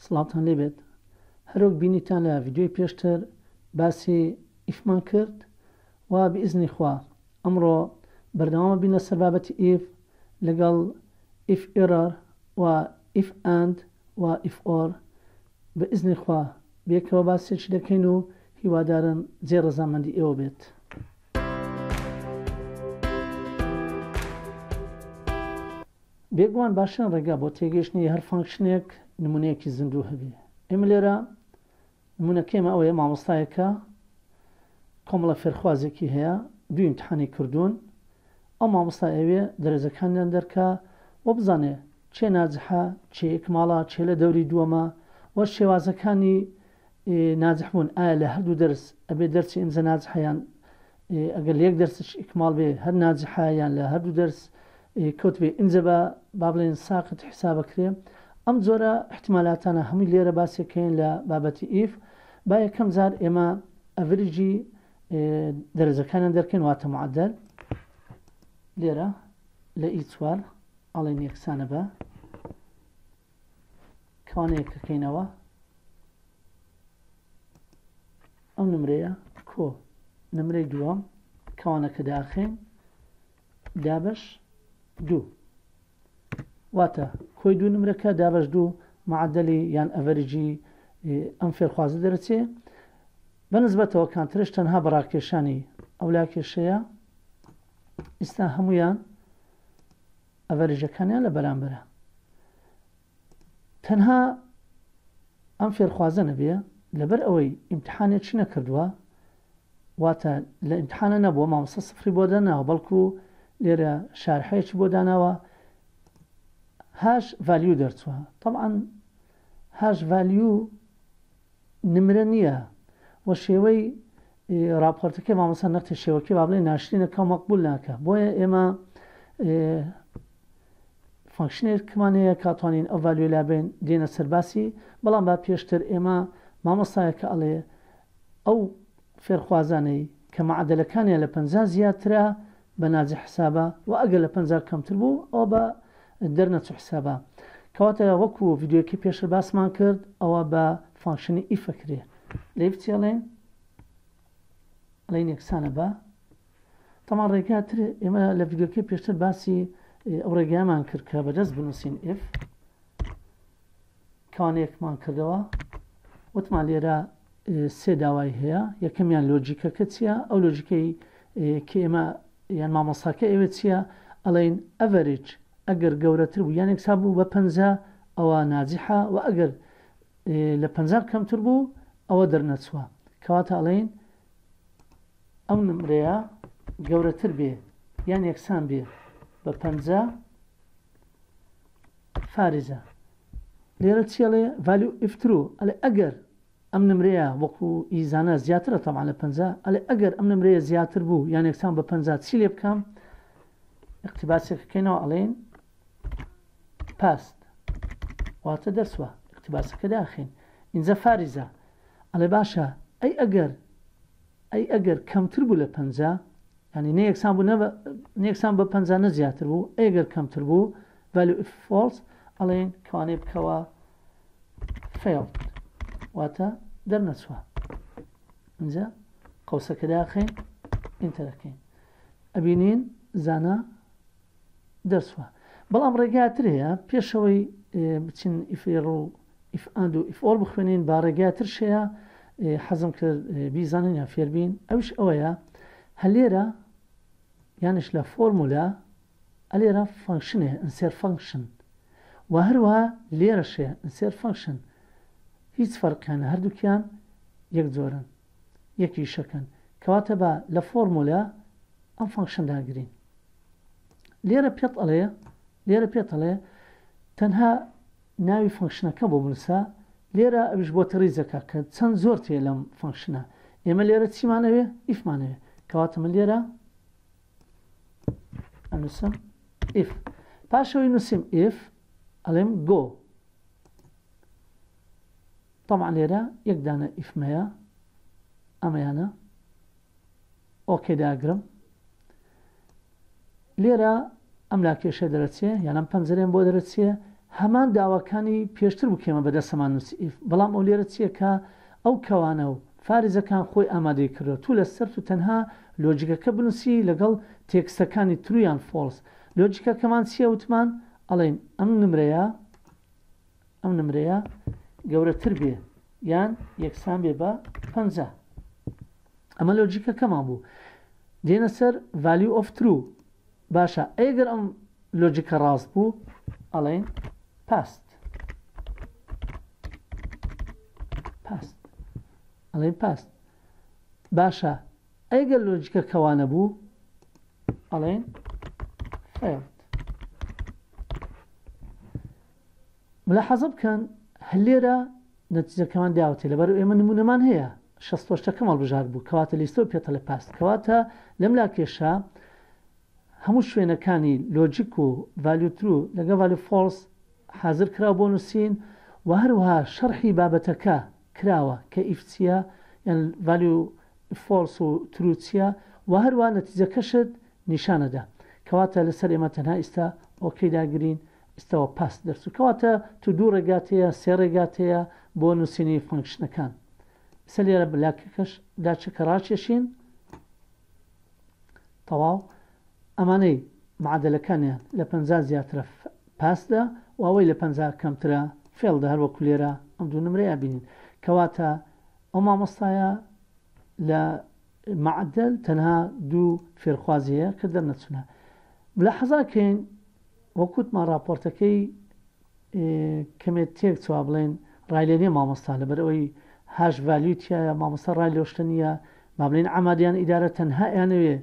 سڵاوتان لێبێت هەروەک بینیتان لە ڤیدیۆی پێشتر باسی if مان کرد و بئیزنی خوا ئەمڕۆ بەردەوامە بین لەسەر بابەتی if لەگەڵ if error و if and و if or بە ئیزنی خوا بێکەوە باسێکی دەکەین و هیوادارم جێی ڕەزامەندی ئێوە بێت. بێگومان باشترین ڕێگا بۆ تێگەیشتنی هەر function ێک نمونەیەکی زیندوو هەبێ. ئێمە لێرە نمونەکەی ئێمە ئەوەیە مامۆستایەکە کۆمەڵە فێرخوازێکی هەیە دوو ئیمتحانی کردوون ئەو مامۆستا ئەوێ دەرەجەکانیان دەرکا و بزانێ چێ ناجحە چێ ئیکماڵە چێ لە دەوری دووەمە و شێوازەکانی ناجح بوون ئایا لە هەردوو دەرس ئەبێ دەرچێ ئینجا ناجحە یان ئەگەر لە یەک دەرسش ئیکماڵ بێ هەر ناجحە یان لە هەردوو دەرس کەوت بێ ئینجا بە با بڵێن ساقت حسابەکرێ ئەم جۆرە احتمالاتانە هەمووی لێرە باسێکەین لە بابەتی if. با یەکەم جار ئێمە average ی دەرەجەکانیان دەرکەین واتە معدل لێرە لە E چوار ئەڵێن یەکسانە بە کەوانەیەکەکەینەوە ئەو نمرەیە کۆ نمرەی دووەم کەوانەکە داخین دابش دوو واتە کۆی دوو نمرەکە دابش دوو معدلی یان average ی ئەم فێرخوازە دەرەچێ بە نسبەتەوە کانترش تەنها بە ڕاکێشانی ئەو لاکێشەیە ئیستا هەمویان average ەکانیان لە بەرامبەرە تەنها ئەم فێرخوازە نەبێ لەبەر ئەوەی ئیمتحانێکی نەکردووە واتە لە ئیمتحانە نەبووە مامۆستا سفری بۆ داناوە بەڵکو لێرە شارحەیەکی بۆ داناوە hash value دەرچووە طبعا hash value نمرە نییە و شێوەی راپۆرتەکەی مامۆستا نەختێ شێوەکەی با بڵێ ناشرینە کە مەقبول ناکە بۆیە ئێمە function ێکمان هەیە کاتوانین ئەو value ی لابێن دێنە سەرباسی بەڵام با پێشتر ئێمە مامۆستایەکە ئەڵێ ئەو فێرخوازانەی کە معدلەکانیان لە 50 زیاترە بە ناجح حسابە و ئەگەر لە 50 کەمتر بوو ئەوە بە دەرنەچوو حسابە کەواتە وەکو ڤیدیۆکەی پێشتر باسمان کرد ئەوە بە function ی if ئەکرێ لە if چی ئەڵێن ئەڵێن یەکسانە بە تەمان ڕێگا تر ئێمە لە ڤیدیۆکەی پێشتر باسی ئەو ڕێگایمان کرد کە بەدەست بنووسین if کەوانەیەکمان کردەوە وتمان لێرە سێ داوای هەیە یەکەمیان لۆجیکەکە چییە ئەو لۆجیکەی کە ئێمە یان مامۆستاکە ئەوێ چییە ئەڵێن average ئەگەر گەورەتر بوو یان یەکسان بوو بە 50 ئەوە ناجحە و ئەگەر لە 50 کەمتر بوو ئەوە دەرنەچووە کەواتە ئەڵێن ئەو نمرەیە گەورەتر بێ یان یەکسان بێ بە 50 فارزە لێرە چی ئەڵێ value if true ئەڵێ ئەگەر ئەم نمرەیە وەکو ئی زانا زیاترە تەبعەن لە 50 ئەڵێ ئەگەر ئەم نمرەیە زیاتر بوو یان یەکسان بە 50 چی لێ بکەم اقتباسێک بکەینەوە ئەڵێن passed واتە دەرسوە اقتباسەکە داخین ئینجا فارزە ئەڵێ باشە ئەی ئەگەر ئەی ئەگەر کەمتر بوو لە 50 یانی نە یەکسان بوو نە یەکسان بە 50 نە زیاتر بوو ئەگەر کەمتر بوو value if false ئەڵێن کەوانەیە بکەوە failed واتە دەرنەچووە اینجا قەوسەکە داخەین enter ەکەین ئەبینین زانا دەرچوە بەڵام ڕێگاتر هەیە پێشەوەی بچین if error و if and و if or بخوێنین با ڕێگاترش هەیە حەزم کرد بیزانین یان فێربین ئەوش ئەوەیە هەلێرە یانش لە فۆرمولا ئەلێرە function ێ insert function و هەروەها لێرەشێ insert function هیچ فەرقیان هەردووکیان یەک جۆرن یەک ئیشەکەن کەواتە با لە فۆرمولا ئەم function داگرین لێرە پێت ئەڵێ لێرە پێت ئەڵێ تەنها ناوی function ەکە بۆ بنووسە لێرە ئەویش بۆ تەڕیزەکە کە چەند زۆر تێ لەم function ە ئێمە لێرە چیمانەوێ if مانەوێ کەواتە من لێرە ئەنووسم if پاشەوەی نووسیم if ئەڵێم go طبعا لێرە یەک دانە if مەیە ئەمەیانە okay داگرم لێرە ئەم لاکێشە دەرەچێ یان ئەم پەنجەرەیەم بۆ دەرەچێ. هەمان داواکانی پێشتر بوو کە ئێمە بەدەستەمان نووسی if بەڵام ئەو لێرە چییە کە ئەو کەوانە و فارزەکان خۆی ئامادەی کردووە تو لەسەرت و تەنها لۆجیکەکە بنووسی لەگەڵ تێکستەکانی true یان false لۆجیکەکەمان چییە وتمان ئەڵێین ئەم نمرەیە ئەم نمرەیە گەورەتر بێ یان یەکسان بێ بە 50 ئەمە لۆجیکەکەمان بوو دێنە سەر value of true باشە ئەگەر ئەم لۆجیکە ڕاست بوو ئەڵێن passed passed ئەڵێن passed باشە ئەگەر لۆجیکە کەوانە بوو ئەڵێن failed ملاحەزە بکەن هەر لێرە نەتیجەکەمان داوەتێ لەبەر ئێمە نمونەمان هەیە شەستۆشتەکەم هەڵبژارد بوو کەواتە لیستەوە پێتەڵێ passed کەواتە لەم لاکێشە هەموو شوێنەکانی لۆجیک و value true لەگەڵ value false حازر کراوە بۆ نووسین و هەروەها شەرحی بابەتەکە کراوە کە if چییە یان value false و true چییە و هەروەها نەتیجەکەشت نیشانەدا کەواتە لەسەر ئێمە تەنها ئیستا okay داگرین ئیستاوە pass دەرچوو کەواتە تو دوو ڕێگات هەیە سێ ڕێگات هەیە بۆ نووسینی function ەکان ئیستا لێرە بلاکەکەش داچەکە ڕاکێشین تەواو ئەمانەی معادلەکانیان لە 50 زیاترە pass دە و ئەوەی لە 50 کەمترە fail دە هەر وەکو لێرە ئەم دوو نمرەیە بینین کەواتە ئەو مامۆستایە لە معدل تەنها دوو فێرخوازی هەیە کە دەرنەچونە ملاحەزا کەین وەک وتمان ڕاپۆرتەکەی کەمێ تێک چوە بڵێن ڕای لێ نیە مامۆستا لەبەر ئەوەی hash value تایە مامۆستا ڕای لەو شتە نییە با بڵێن عەمادیان ئیدارە تەنها ئەیانەوێ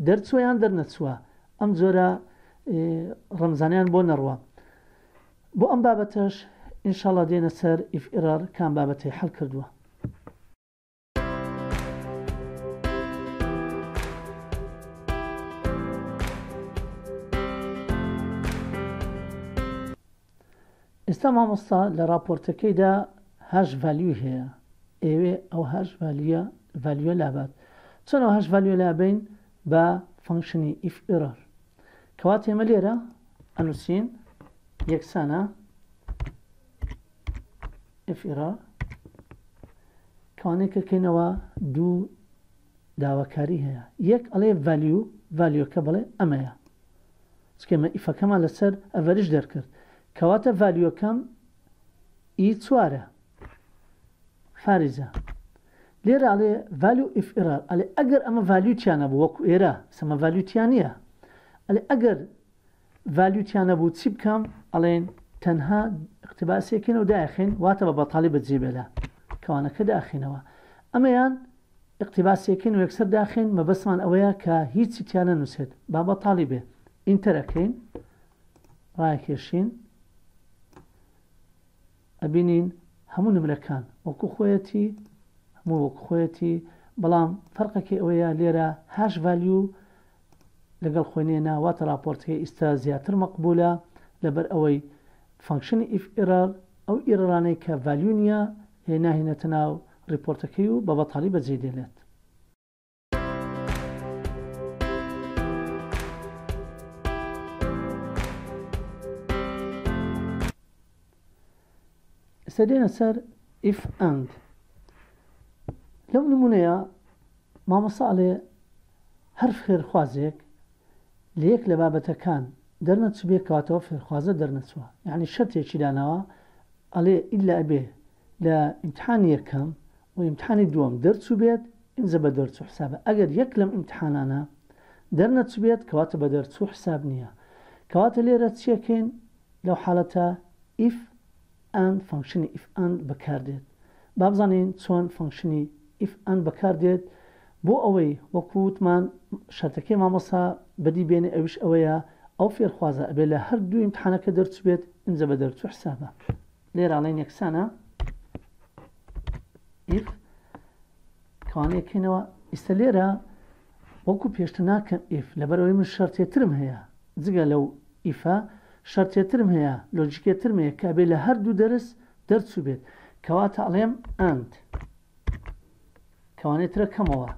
دەرچوە یان دەرنەچوە ئەم جۆرە ڕەمزانیان بۆ نەڕوە بۆ ئەم بابەتەش ئینشاڵا دێنە سەر if error کام بابەتەی حەل کردووە. ئێستا مامۆستا لە ڕاپۆرتەکەیدا hash value ی هەیە ئەیەوێ ئەو hash value ە value ە لابات چۆن ئەو hash value ە لابەین بە function ی if error کەواتە ئێمە لێرە ئەنووسین یەکسانە if error کەوانەیە کەینەوە دوو داواکاری هەیە یەک ئەڵێ value value ەکە بڵێ ئەمەیە چونکە ئێمە if ەکەمان لەسەر average دەرکرد کەواتە value ەکەم ئی چوارە فارزە لێرە ئەڵێ value if error ئەڵێ ئەگەر ئەمە value تیا نەبوو وەکو ئێرە سەمە value تیا نییە ئەڵێ ئەگەر value تیا نەبوو چی بکەم ئەڵێن تەنها اقتباسێکین و داخین واتە بە بەتاڵی بەجێ بێلە کەوانەکە داخینەوە ئەمەیان ئیقتیباسێکەین و یەکسەر داخەین مەبەستمان ئەوەیە کە هیچی تیا نەنووسێت با بەتاڵی بێ enter ئەکەین ڕایەکێشین ئەبینین هەموو نمرەکان وەکو خۆیەتی هەموو وەکو خۆیەتی بەڵام فەرقەکەی ئەوەیە لێرە hash value لەگەڵ خۆی نێنا واتە راپۆرتەکەی ئیستا زیاتر مەقبولە لەبەر ئەوەی function ی if error ئەو error انەی کە value نییە ناهێنێتە ناو ریپۆرتەکەی و بە بەتاڵی بەجێی دێنێت. ئێستا دێنە سەر if and لەو نمونەیە مامۆستا ئەڵێ هەر فێرخوازێک لە یەک لە بابەتەکان دەرنەچوبێ کەواتە ئەو فێرخوازە دەرنەچووە یەعنی شەرتێکی داناوە ئەڵێ ئیلا ئەبێ لە ئیمتحانی یەکەم و ئیمتحانی دووەم دەرچووبێت ئینجا بە دەرچوو حسابە ئەگەر یەک لەم ئیمتحانانە دەرنەچوبێت کەواتە بە دەرچوو حساب نییە کەواتە لێرە چیەکەین لەو حالەتە if and function ی if and بەکاردێت. با بزانین چۆن function ی if and بەکاردێت بۆ ئەوەی وەکو وتمان شەرتەکەی مامۆستا بەدی بێنێ ئەویش ئەوەیە ئەو فێرخوازە ئەبێ لە هەردوو ئیمتحانەکە دەرچوبێت ئینجا بە دەرچوو حسابە. لێرە ئەڵێین یەکسانە if کەوانەیە کەینەوە ئیستا لێرە وەکو پێشتر ناکەم if لەبەرئەوەی من شەرتێترم هەیە جگە لەو if ە شەرتێترم هەیە لۆجیکێترم هەیە کە ئەبێ لە هەردوو دەرس دەرچووبێت کەواتە ئەڵێم and کەوانێترە کەمەوە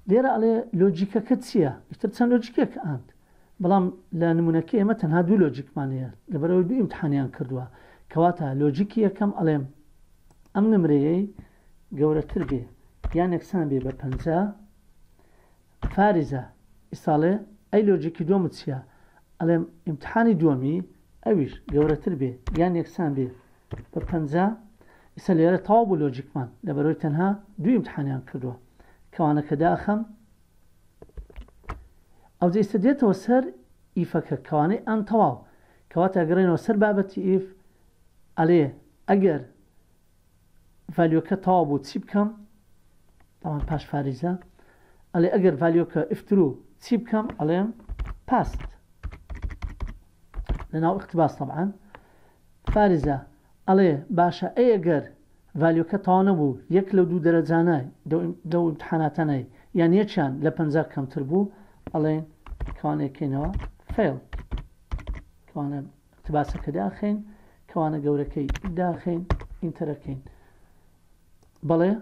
لێرە ئەڵێ لۆجیکەکە چییە ئیتر چەند لۆجیکێک and. بەڵام لە نمونەکەی ئێمە تەنها دوو لۆجیکمان هەیە لەبەرئەوەی دوو ئیمتحانیان کردووە کەواتە لۆجیکی یەکەم ئەڵێم ئەم نمرەیەی گەورەتر بێ یان یەکسان بێ بە 50 فارزە ئیساڵێ ئەی لۆجیکی دووەمت چییە ئەڵێم ئیمتحانی دووەمی ئەویش گەورەتر بێ یان یەکسان بێ بە 50 ئیسا لێرە تەواو بوو لۆجیکمان لەبەرەوەی تەنها دوو ئیمتحانیان کردووە کەوانەکە داخەم ئەوجا ئیستا دێتەوە سەر if ەکە کەوانەی and تەواو کەواتە ئەگەڕێنەوە سەر بابەتی if ئەلێ ئەگەر value ەکە تەواو بوو چی بکەم تاوان پاش فاریزە ئەلێ ئەگەر value ەکە if true چی بکەم ئەڵێم passed لەناو اقتباس طبعا فارزە ئەڵێ باشە ئەی ئەگەر value ەکە تەواو نەبوو یەک لەو دوو دەرەجانە لەو ئیمتحاناتانەی یان یەکیان لە 50 کەمتر بوو ئەڵێن کەوانە کەینەوە fail کەوانە اقتباسەکە داخین کەوانە گەورەکەی داخین enter ەکەین بەڵێ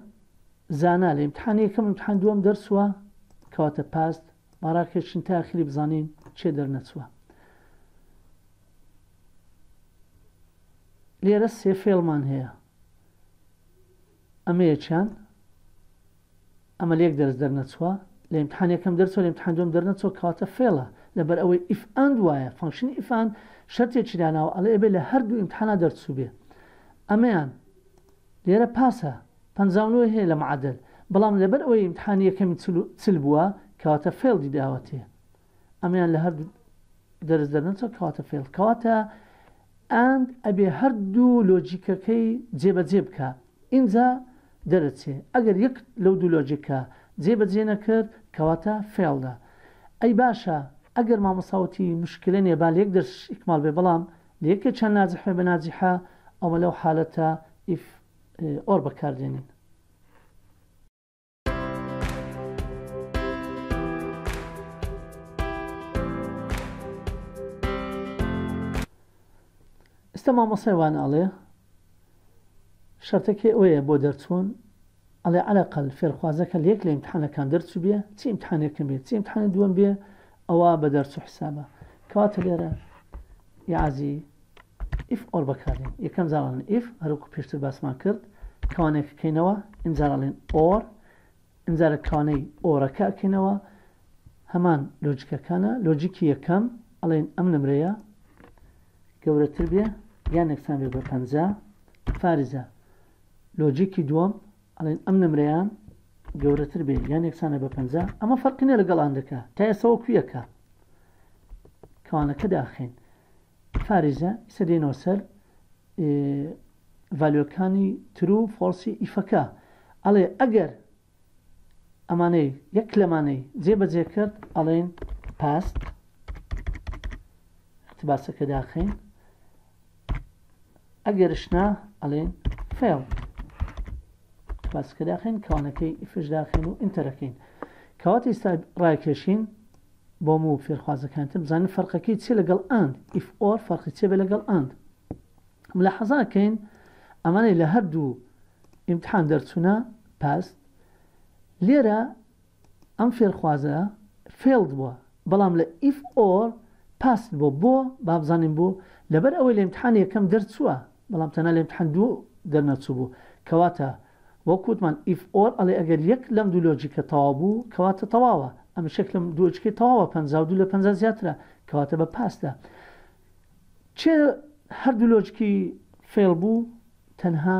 زانا لە ئیمتحان یەکەم ئیمتحان دووەم دەرچووە کەواتە passed باڕاکێشین تا ئاخری بزانین چێ دەرنەچووە لێرە سێ fail مان هەیە ئەمە یەکیان ئەمە لە یەک دەرس دەرنەچووە لە ئیمتحان یەکەم دەرچوە لە ئیمتحان دووەم دەرنەچووە کەواتە fail ە لەبەر ئەوەی if and وایە function ی if and شەرتێکی داناوە ئەڵێ ئەبێ لە هەردوو ئیمتحانا دەرچوو بێ ئەمەیان لێرە pass ە 59 هەیە لە معدل بەڵام لەبەر ئەوەی ئیمتحانی یەکەمی چل بووە کەواتە fail دی داوەتێ ئەمەیان لە هەردوو دەرس دەرنەچوە کەواتە fail کەواتە and ئەبێ هەردوو لۆجیکەکەی جێبەجێ بکا ئینجا دەرەچێ ئەگەر یەک لەو دوو لۆجیکە جێبەجێ نەکرد کەواتە failed ە ئەی باشە ئەگەر مامۆستا وتی مشکلە نیە با لە یەک دەرسش ئیکمال بێ بەڵام لە یەکێکیان ناجح بێ بە ناجحە ئەوە لەو حالەتە if or بەکاردێنین. ئێستا مامۆستای وانە ئەڵێ شەرتەکەی ئەوەیە بۆ دەرچوون ئەڵێ عەلەقەل فێرخوازەکە لە یەک لە ئیمتحانەکان دەرچوو بێ چی ئیمتحانێکم بێ چی ئیمتحانی دووەم بێ ئەوە بە دەرچوو حسابە کەواتە لێرە یعازی if or بەکاردێن یەکەم جار ئەڵێن if هەروەکو پێشتر باسمان کرد کەوانێک کەینەوە ئینجار ئەڵێن or ئینجارە کەوانەی or ەکە ئەکەینەوە هەمان لۆجیکەکانە لۆجیکی یەکەم ئەڵێن ئەم نمرەیە گەورەتر بێ یان یەکسان بێ بە 50 فارزە لۆجیکی دووەم ئەڵێن ئەم نمرەیان گەورەتر بێ یان یەکسانە بە 50 ئەمە فەرقی نیە لەگەڵ and ەکە تا ئێستا وەکو یەکە کەوانەکە داخین فارزە ئیسە دێنەوە سەر value ەکانی true false ی if ەکە ئەڵێ ئەگەر ئەمانەی یەک لەمانەی جێ بەجێ کرد ئەڵێن passed اقتباسەکە داخین ئەگەرشنا ئەڵێن fail اقتباسەکە داخین کەوانەکەی if ش داخین و enter ەکەین کەواتە ئێستا ڕایکێشین بۆم و فێرخوازەکانتر بزانن فەرقەکەی چیە لەگەڵ and if or فەرقی چیە بێ لەگەڵ and ملاحەزە ئەکەین ئەمانەی لە هەردوو ئیمتحان دەرچوونە passed لێرە ئەم فێرخوازە failed بووە بەڵام لە if or passed بۆ بۆ با بزانین بۆ لەبەر ئەوەی لە ئیمتحان یەکەم دەرچووە بەڵام تەنها لە ئیمتحان دوو دەرنەچوو بوو کەواتە وەک وتمان if or ئەڵێ ئەگەر یەک لەم دوو لۆجیکە تەواو بوو کەواتە تەواوە ئەمش یەک لەم دوو لۆجیکەی تەواوە 52 لە 50 زیاترە کەواتە بە passed ە کێ هەردوو لۆجیکی fail بوو تەنها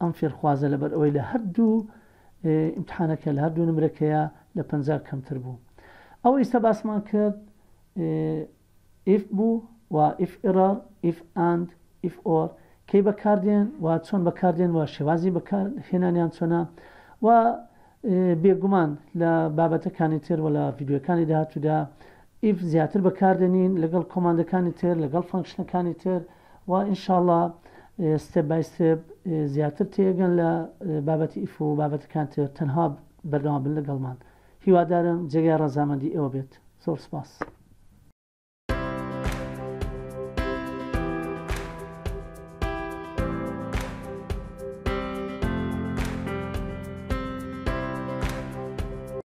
ئەم فێرخوازە لەبەر ئەوەی لە هەردوو ئیمتحانەکە لە هەردوو نمرەکەیە لە 50 کەمتر بوو ئەوە ئیستا باسمان کرد if بوو و if error، if and، if or کەی بەکاردێن و چۆن بەکاردێن و شێوازی بەکارهێنانیان چۆنە و بێگومان لە بابەتەکانی تر و لە ڤیدیۆکانی داهاتوودا if زیاتر بەکاردێنین لەگەڵ command ەکانی تر لەگەڵ function ەکانی تر و ئینشاءاللە step by step زیاتر تێگەن لە بابەتی if و بابەتەکان تر تەنها بەردەوام بن لەگەڵمان هیوادارم جێگای ڕەزامەندی ئێوە بێت زۆر سپاس.